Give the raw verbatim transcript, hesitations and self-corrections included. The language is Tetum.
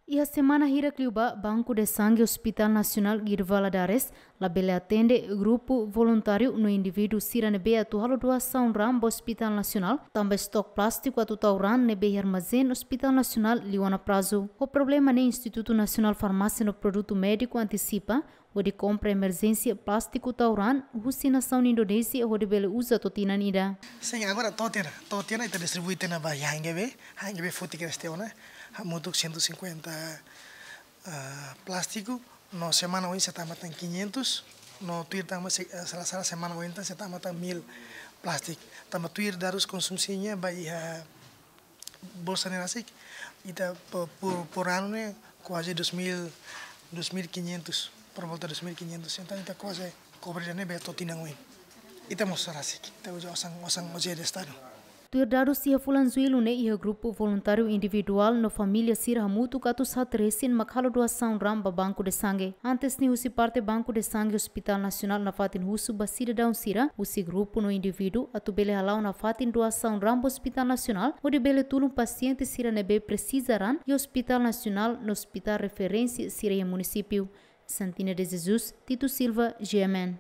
Iha semana hirak liubá, Banco de Sangue Hospital Nacional Guido Valadares labele atende grupu voluntáriu no indivíduu sira ne'ebé atu halo doasaun raan ba Hospital Nacional, tanba estok plástiku atu tau raan ne'ebé iha armazén Hospital Nacional liu ona prazu. Ho problema ne'e, Institutu Nasionál Farmásia no Produtu Médiku antisipa hodi kompra emerjénsia plástiku tau raan husi nasaun Indonézia hodi bele uza to'o tinan ida. Sin, agora to'o tiha ona, to'o tiha ona ita distribui tiha ona ba iha H N G B, H N G B futi kres tiha ona, hamutuk cento e cinquenta, ah, plástiku, no semana oin sei tama tan quinhentos, no tuir tama se, ah, sala-sala semana oin tan sei tama tan mil plástiku. Tanba tuir dadus konsumsi nian ba iha bolsa ne'e rasik, ita po-, por, por anu ne'e kuaze dois mil, dois mil e quinhentos, por volta dois mil e quinhentos. Entaun ita kuaze kobre ida-ne'e be to'o tinan oin. Ita mós rasik, ita uza osan, osan ojeda Estadu. Tuir dadus iha fulan Jullu ne'e, iha grupu voluntáriu individuál no família sira hamutuk atus haat resin mak halo doasaun raan ba Banco de Sangue. Antes ne'e, husi parte Banco de Sangue Hospital Nacional nafatin husu ba sidadaun sira husi grupu no indivíduu atu bele hala'o nafatin doasaun raan ba Hospital Nacional, hodi bele tulun pasiente sira ne'ebé presiza raan iha Hospital Nacional no hospital referénsia sira iha munisípiu. Santina de Jesus, Tito Silva, G M N.